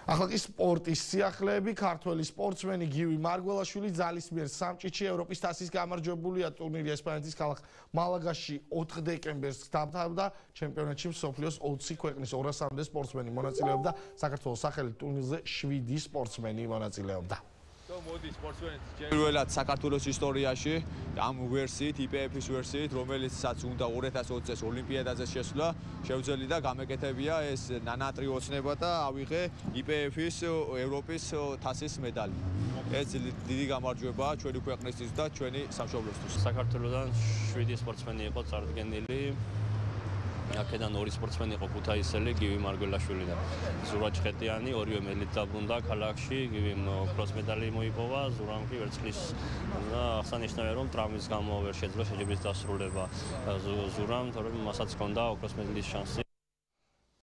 ახლა კი სპორტის სიახლეები ქართველი სპორტსმენი გივი მარგველაშვილი ძალისმიერ სამჭიჩი ევროპის თასის გამარჯვებულია ტურნირი ესპანეთის ქალაქ მალაგაში 4 დეკემბერს დამთავრდა ჩემპიონატში მსოფლიოს 20 ქვეყნის 200-მდე სპორტსმენი მონაწილეობდა საქართველოს სახელით ტურნირზე 7 სპორტსმენი მონაწილეობდა მოდი სპორტსმენების პირველად საქართველოს ისტორიაში ამ ვერსიით IPF-ის ვერსიით რომელიცაც უნდა 2020 წელს ოლიმპიადაზე შესვლა შევძლი და გამეკეთებია ეს ნანატრი ოცნება და ავიღე IPF-ის ევროპის თასის медаლი ეს დიდი გამარჯვებაა ჩვენი ქვეყნისთვის და ჩვენი სამშობლოსთვის საქართველოსდან 7 სპორტსმენი იყო წარდგენილი აქედან 2 სპორტსმენი იყო ქუთაისელი გივი მარგველაშვილი და ზურა ჩხეტიანი ორივე მედლით დაბრუნდა ქალაქში გივიმ კროს მედალი მოიპოვა ზურამ კი ვერცხლის და აღსანიშნავია რომ ტრამვის გამო ვერ შეძლო შეჯიბრის დასრულება ზურამ თორემ მასაც ჰქონდა ოქროს მედლის შანსი